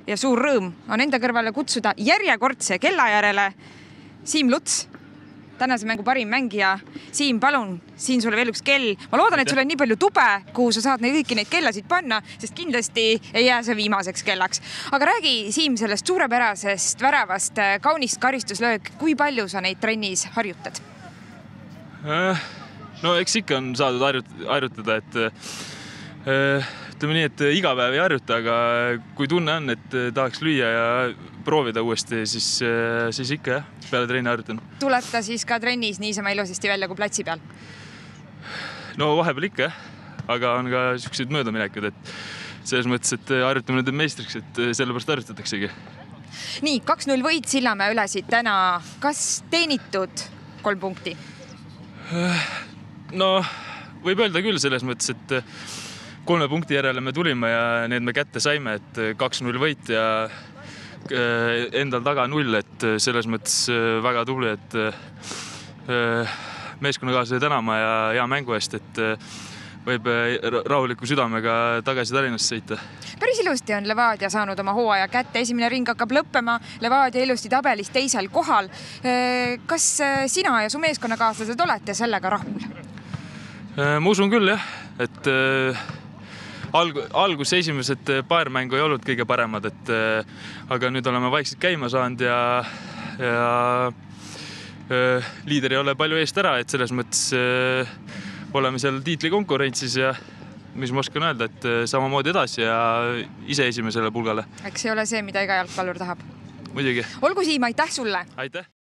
ja suur rõõm on enda kõrvale kutsuda järjekordse Kellajärele Siim Luts, tänase mängu parim mängija. Siim, palun, siin sulle veel üks kell. Ma loodan, et sul on nii palju tube, kuhu sa saad kõiki neid kellasid panna, sest kindlasti ei jää see viimaseks kellaks. Aga räägi, Siim, sellest suurepärasest väravast, kaunist karistuslöök. Kui palju sa neid trennis harjutad? No eks ikka on saadud harjutada, et ütleme nii, et iga päev ei harjuta, aga kui tunne on, et tahaks lüüa ja proovida uuesti, siis ikka jah, peale trenni harjutan. Tuleb ta siis ka trennis niisama ilusasti välja kui platsi peal? No vahepeal ikka jah, aga on ka sellised möödaminekud, et selles mõttes, et harjutame nüüd meistriks, et sellepärast harjutataksegi. Nii, 2-0 võit Sillamäe ülesid täna. Kas teenitud 3 punkti? No võib öelda küll selles mõttes, et 3 punkti järele me tulime ja need me kätte saime, et 2-0 võit ja endal taga 0, et selles mõttes väga tubli, et meeskonnakaaslase tänama ja hea mängu eest, et võib rahuliku südamega tagasi Tallinnasse sõita. Päris ilusti on Levadia saanud oma hooaja kätte. Esimene ring hakkab lõppema. Levadia ilusti tabelis 2. kohal. Kas sina ja su meeskonnakaaslased olete sellega rahul? Ma usun küll jah, et algus esimesed paar mängu ei olnud kõige paremad, aga nüüd oleme vaikselt käima saanud ja liider ei ole palju eest ära, et selles mõttes oleme seal tiitli konkurentsis ja mis ma oskan öelda, et samamoodi edasi ja ise esimesele pulgale. Eks ei ole see, mida iga jalgpallur tahab. Muidugi. Olgu Siim, aitäh sulle! Aitäh!